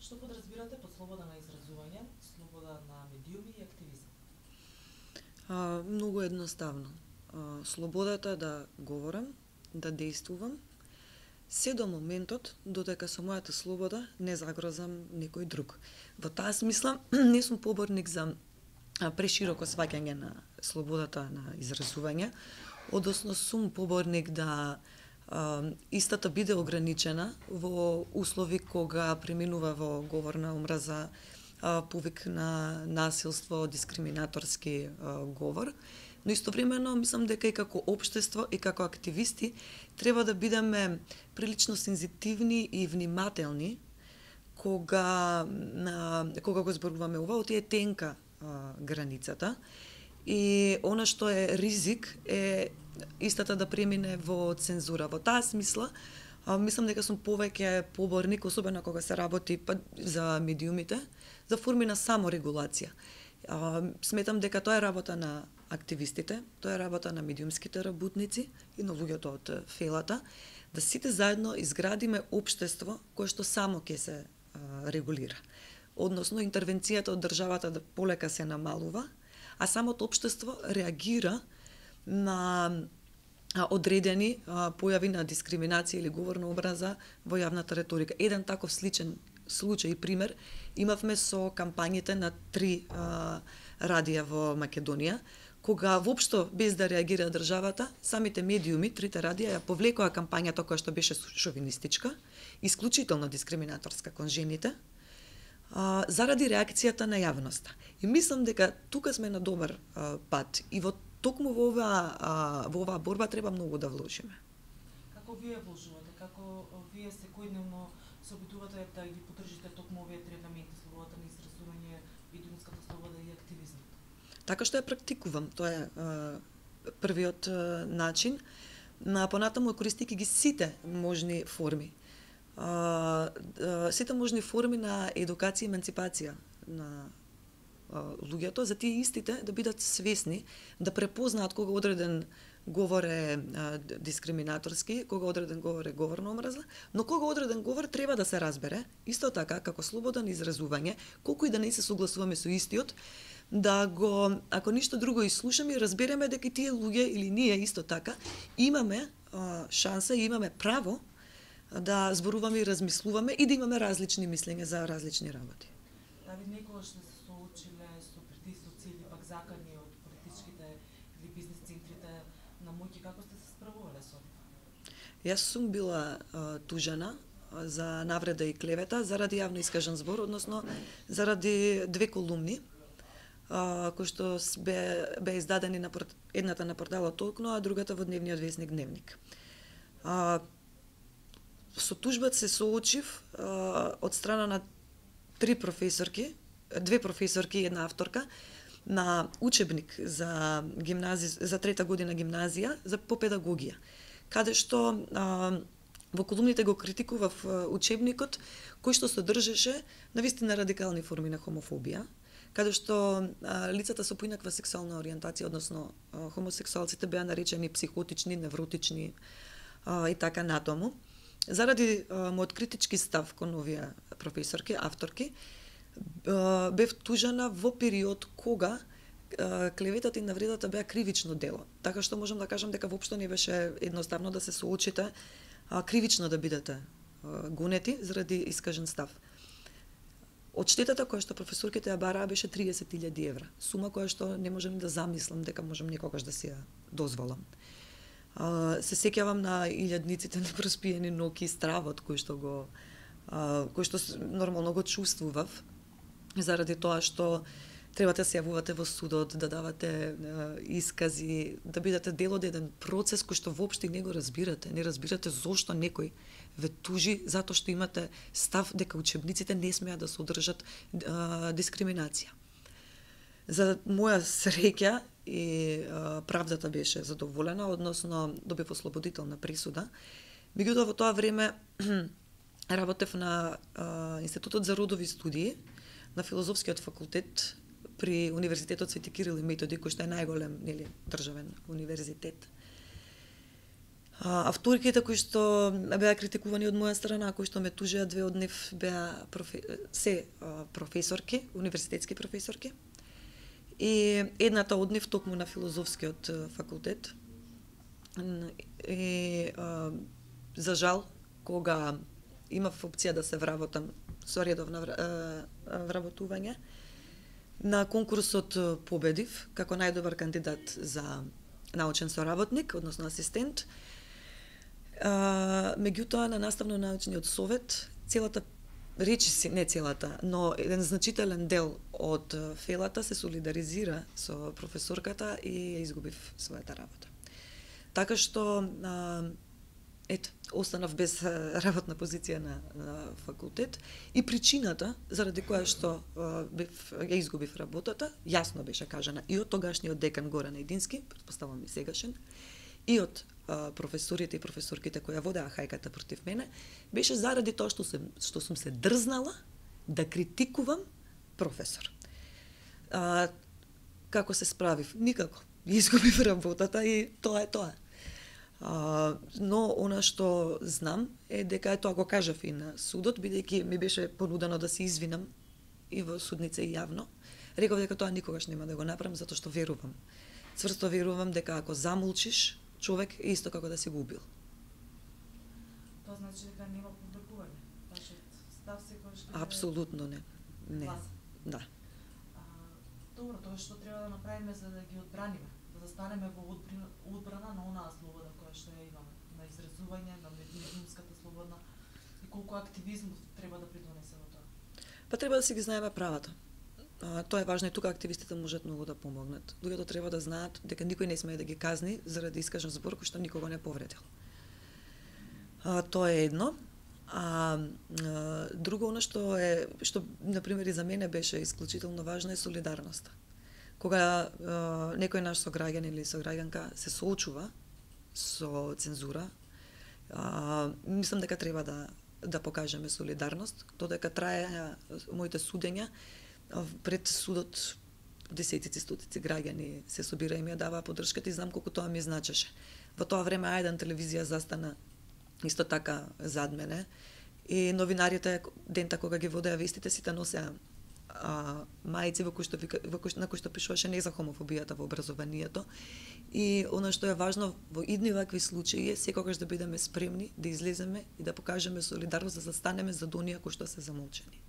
Што подразбирате под слобода на изразување, слобода на медиуми и активизам? Многу едноставно. Слободата да говорам, да действувам, се до моментот додека со мојата слобода не загрозам некој друг. Во таа смисла не сум поборник за прешироко сваќање на слободата на изразување, односно сум поборник да истата биде ограничена во услови кога преминува во говор на омраза, повик на насилство, дискриминаторски говор, но истовремено мислам дека и како општество и како активисти треба да бидеме прилично сензитивни и внимателни кога го зборуваме ова, оти е тенка границата и она што е ризик е истата да премине во цензура. Во таа смисла мислам дека сум повеќе поборник, особено кога се работи за медиумите, за форми на саморегулација. Сметам дека тоа е работа на активистите, тоа е работа на медиумските работници и на луѓето од фелата, да сите заедно изградиме општество кое што само ќе се регулира. Односно, интервенцијата од државата да полека се намалува, а самото општество реагира на одредени појави на дискриминација или говор на омраза во јавната реторика. Еден таков сличен случај и пример имавме со кампањите на 3 радија во Македонија, кога воопшто без да реагира државата, самите медиуми, 3 радија ја повлекоа кампањата која што беше шовинистичка, исклучително дискриминаторска кон жените, заради реакцијата на јавноста. И мислам дека тука сме на добар пат и токму во оваа борба треба многу да вложиме. Како вие вложувате? Како вие секојдневно се обидувате да ги поддржите токму овие 3 елементи, слободата на изразување, медиумската слобода и активизмот? Така што ја практикувам, тоа е првиот начин. Понатаму користики ги сите можни форми. Сите можни форми на едукација и еманципација на луѓето, за тие истите да бидат свесни, да препознаат кога одреден говор е дискриминаторски, кога одреден говор е говор на омраза, но кога одреден говор треба да се разбере, исто така како слобода на изразување, колку и да не се согласуваме со истиот, да го, ако ништо друго изслушаме и разбереме дека тие луѓе или ние исто така имаме шанса и имаме право да зборуваме и размислуваме и да имаме различни мислења за различни работи. Дали некогаш сте се соочиле со притисоци или пак закани од политичките или бизнес центрите на моќ, како сте се справувале со тоа? Јас сум била тужена за навреда и клевета заради јавно искажан збор, односно заради 2 колумни кои што беа издадени на едната на порталот Толкно, а другата во дневниот весник Дневник. Со тужбата се соочив од страна на 2 професорки и една авторка на учебник за за 3-та година гимназија по педагогија, каде што во колумните го критикував учебникот кој што содржеше навистина радикални форми на хомофобија, каде што лицата со поинаква сексуална ориентација, односно хомосексуалците, беа наречени психотични, невротични и така натаму. Заради мојот критички став кон овие професорки, авторки, бев тужена во период кога клеветата и навредата беа кривично дело. Така што можам да кажам дека воопшто не беше едноставно да се соочите кривично да бидете гонети заради искажен став. Одштетата која што професорките ја бараа беше 30.000 евра, сума која што не можам да замислам дека можам некогаш да си ја дозволам. Се сеќавам на илјадниците на проспиени ноќи, стравот кој што нормално го чувствував, заради тоа што треба да се јавувате во судот, да давате искази, да бидете дел од еден процес кој што воопшто не го разбирате. Не разбирате зошто некој ве тужи затоа што имате став дека учебниците не смеат да содржат дискриминација. За моја среќа и правдата беше задоволена, односно добив ослободителна присуда. Меѓутоа во тоа време работев на Институтот за родови студии на Филозофскиот факултет при Универзитетот Свети Кирил и Методи, кој што е најголем државен универзитет. Авторките кои што беа критикувани од моја страна, кои што ме тужеа, две од нив беа професорки, универзитетски професорки. И едната од нив токму на филозофскиот факултет. И за жал, кога имав опција да се вработам со редовно вработување, на конкурсот победив како најдобар кандидат за научен соработник, односно асистент. Меѓутоа, на наставно-научниот совет, целата, речиси, не целата, но еден значителен дел од фелата се солидаризира со професорката и ја изгубив својата работа. Така што, останав без работна позиција на факултет и причината заради која што ја изгубив работата, јасно беше кажана и од тогашниот декан Горан Едински, претпоставувам и сегашен, и од професорите и професорките кои ја водеа хајката против мене, беше заради тоа што сум се дрзнала да критикувам професор. Како се справив? Никако. Изгубив работата и тоа е тоа. Но она што знам е дека тоа го кажав и на судот, бидејќи ми беше понудено да се извинам и во судница и јавно. Реков дека тоа никогаш нема да го направам, затоа што верувам. Цврсто верувам дека ако замолчиш, човек е исто како да си го убил. Тоа значи дека нема публикување. Вашиот став секогаш ќе Апсолутно не. Не. Да. Добро, тоа што треба да направиме за да ги одбраниме, да застанеме во одбрана на онаа слобода која што ја имаме, на изразување, на медиумската слобода и колку активизмот треба да придонесе во тоа. Па треба да си ги знаеме правата. Тоа е важно и тука активистите можат многу да помогнат. Луѓето треба да знаат дека никој не смее да ги казни заради искажен збор кој што никого не повредил. Тоа е едно. Друго, она што на пример и за мене беше исклучително важно е солидарноста. Кога некој наш сограѓан или сограѓанка се соочува со цензура, мислам дека треба да покажеме солидарност, додека трае моите судења пред судот, десетици, стотици граѓани се собира и ми ја даваа поддршката и знам колку тоа ми значеше. Во тоа време Ајдан телевизија застана исто така зад мене и новинарите дента кога ги водеа вестите сите носеа мајци на кои што пишуваше не за хомофобијата во образованието. И она што е важно во идни вакви случаи е секогаш да бидеме спремни да излеземе и да покажеме солидарност, да застанеме за оние кои што се замолчени.